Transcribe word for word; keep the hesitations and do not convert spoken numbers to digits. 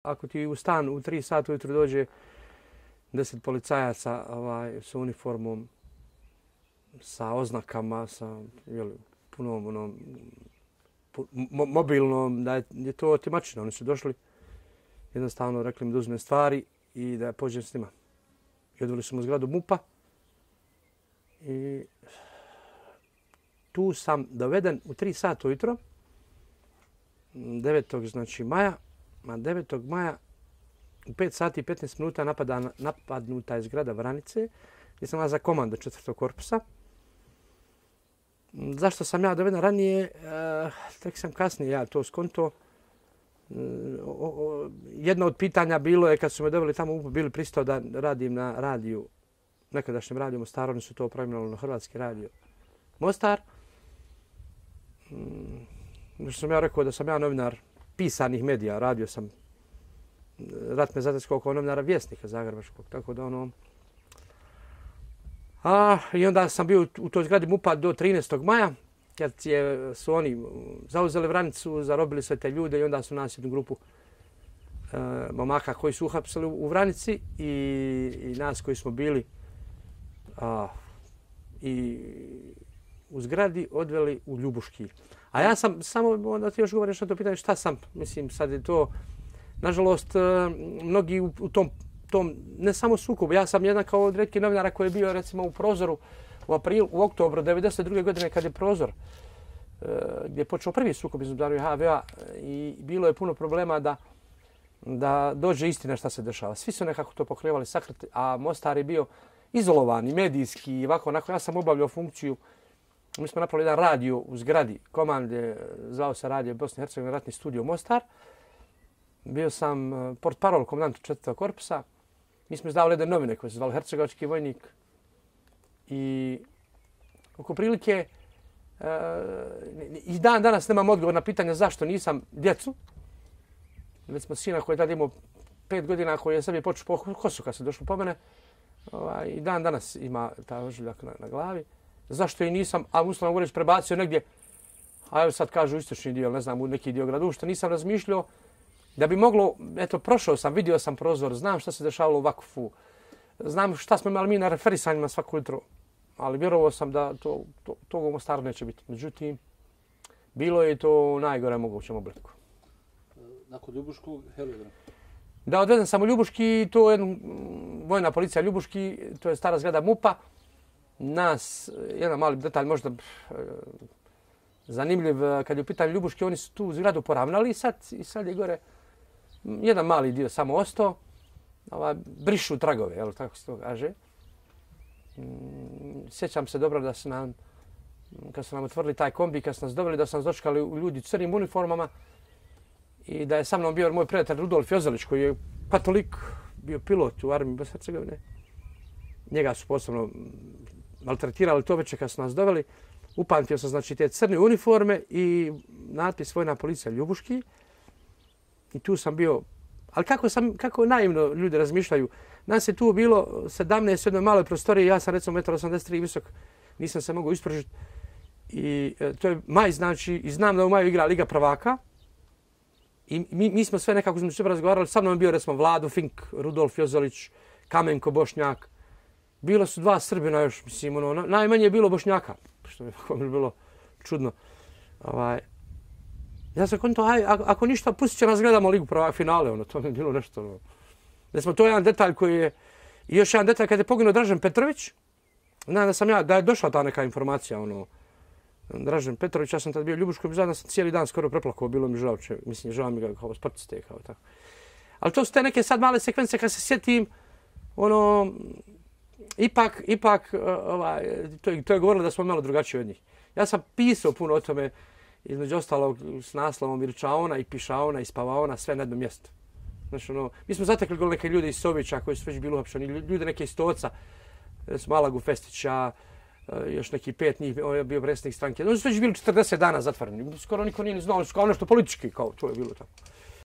Ako ti u stan u tri sata ujutro dođe deset policajaca ovaj, sa uniformom, sa oznakama, sa jel, punom onom, pu, mo, mobilnom, da je, je to otimačina. Oni su došli, jednostavno rekli mi da uzme stvari i da pođem s njima. I odveli su mu zgradu MUP-a i tu sam doveden u tri sata ujutro, devetog znači maja, a devetog maja u pet sati i petnaest minuta napada, napadnuta je zgrada Vranice, gdje sam ja za komando četvrtog korpusa. Zašto sam ja doveden ranije, e, tek sam kasnije ja to skonto. E, o, o, jedno od pitanja bilo je kad su me doveli tamo, bili pristao da radim na radiju, nekadašnjem radiju Mostar, oni su to preimenovali na Hrvatski radio Mostar. Mm, što sam ja rekao da sam ja novinar pisanih medija, radio sam, rat me zateskao kao novinara Vjesnika Zagrebačkog, tako da ono... A, i onda sam bio u toj zgradi MUP-a do trinaestog maja, kad je, su oni zauzeli Vranicu, zarobili sve te ljude i onda su nas jednu grupu e, momaka koji su uhapsili u Vranici i, i nas koji smo bili a, i u zgradi odveli u Ljubuški. A ja sam, samo da ti još govoriš na to pitanje, šta sam, mislim, sad je to, nažalost, mnogi u, u tom, tom, ne samo sukobu, ja sam jedan kao od retkih novinara koji je bio, recimo, u Prozoru u aprilu, u oktobru devedeset druge godine kad je Prozor, gdje je počeo prvi sukob između Darija i H V A i bilo je puno problema da, da dođe istina šta se dešava. Svi su nekako to pokrivali sakriti, a Mostar je bio izolovan i medijski i ovako, onako, ja sam obavljao funkciju. Mi smo napravili jedan radio u zgradi komande, zvao se radio Bosne i Hercegovine ratni studio Mostar. Bio sam portparol komandant četvrtog korpusa. Mi smo izdavali jedne novine koje se zvali Hercegovački vojnik. I oko prilike uh, i dan danas nemam odgovor na pitanje zašto nisam djecu. Već smo sina koji je tada imao pet godina koji je sebi počeo po kosu kad se došlo po mene. Ovaj, i dan danas ima ta ožiljak na, na glavi. Zašto i nisam, a uslovno govoreći, prebacio negdje, a evo sad kažu istočni dio, ne znam, u neki dio gradu, što nisam razmišljao da bi moglo, eto, prošao sam, vidio sam Prozor, znam šta se dešavalo u Vakfu, znam šta smo imali mi na referisanjima svako jutro, ali vjerovao sam da to, to, tog u Mostaru neće biti. Međutim, bilo je to u najgore mogućem obliku. Nakon Ljubuškog, Helodra? Da, odvedem sam u Ljubuški, to je vojna policija Ljubuški, to je stara zgrada MUP-a. Nas, jedan mali detalj možda zanimljiv, kad je u pitanju Ljubuški, oni su tu zgradu poravnali i sad, i sad je gore jedan mali dio samo ostao. Ova, brišu tragove, jel, tako se to kaže. Sjećam se dobro da su nam, kad su nam otvorili taj kombi, kad su nas doveli, da su nas dočekali ljudi u crnim uniformama i da je sa mnom bio moj prijatelj Rudolf Jozelić, koji je katolik, bio pilot u armiji Bosne i Hercegovine. Njega su posebno maltretirali to večer kad su nas doveli. Upamtio sam znači te crne uniforme i natpis Vojna policija Ljubuški. I tu sam bio, ali kako sam, kako naivno ljudi razmišljaju. Nas je tu bilo sedamnaest u jednoj maloj prostoriji, ja sam recimo jedan osamdeset tri visok, nisam se mogao ispružiti. I e, to je maj, znači, i znam da u maju igra Liga prvaka. I mi, mi smo sve nekako između sebe razgovarali. Sa mnom je bio recimo Vlado Fink, Rudolf Jozelić, Kamenko Bošnjak. Bilo su dva Srbina još, mislim, ono, najmanje je bilo Bošnjaka, što mi je bilo čudno. Ovaj, ja sam konto, aj, ako ništa, pustit će nas gledamo Ligu prvaka finale, ono, to mi je bilo nešto. Ono. Recimo, to je jedan detalj koji je, i još jedan detalj kad je poginuo Dražen Petrović, znam da sam ja, da je došla ta neka informacija, ono, Dražen Petrović, ja sam tad bio u Ljubuškoj, zajedno sam cijeli dan skoro preplakao, bilo mi žao, če, mislim, žao mi ga kao sportiste, kao tako. Ali to su te neke sad male sekvence kad se sjetim, ono, Ipak, ipak ovaj, to, je, to je govorilo da smo malo drugačiji od njih. Ja sam pisao puno o tome, između ostalog s naslovom Virčaona i Pišaona i Spavaona, sve na jednom mjestu. Znači, ono, mi smo zatekli neke ljude iz Sovića koji su već bili uhapšeni, ljude neke iz Stoca, recimo Alagu Festića, još neki pet njih, on je bio predsjednik stranke. Oni su već bili četrdeset dana zatvoreni, skoro niko nije ni znao, kao nešto politički, kao to je bilo tako.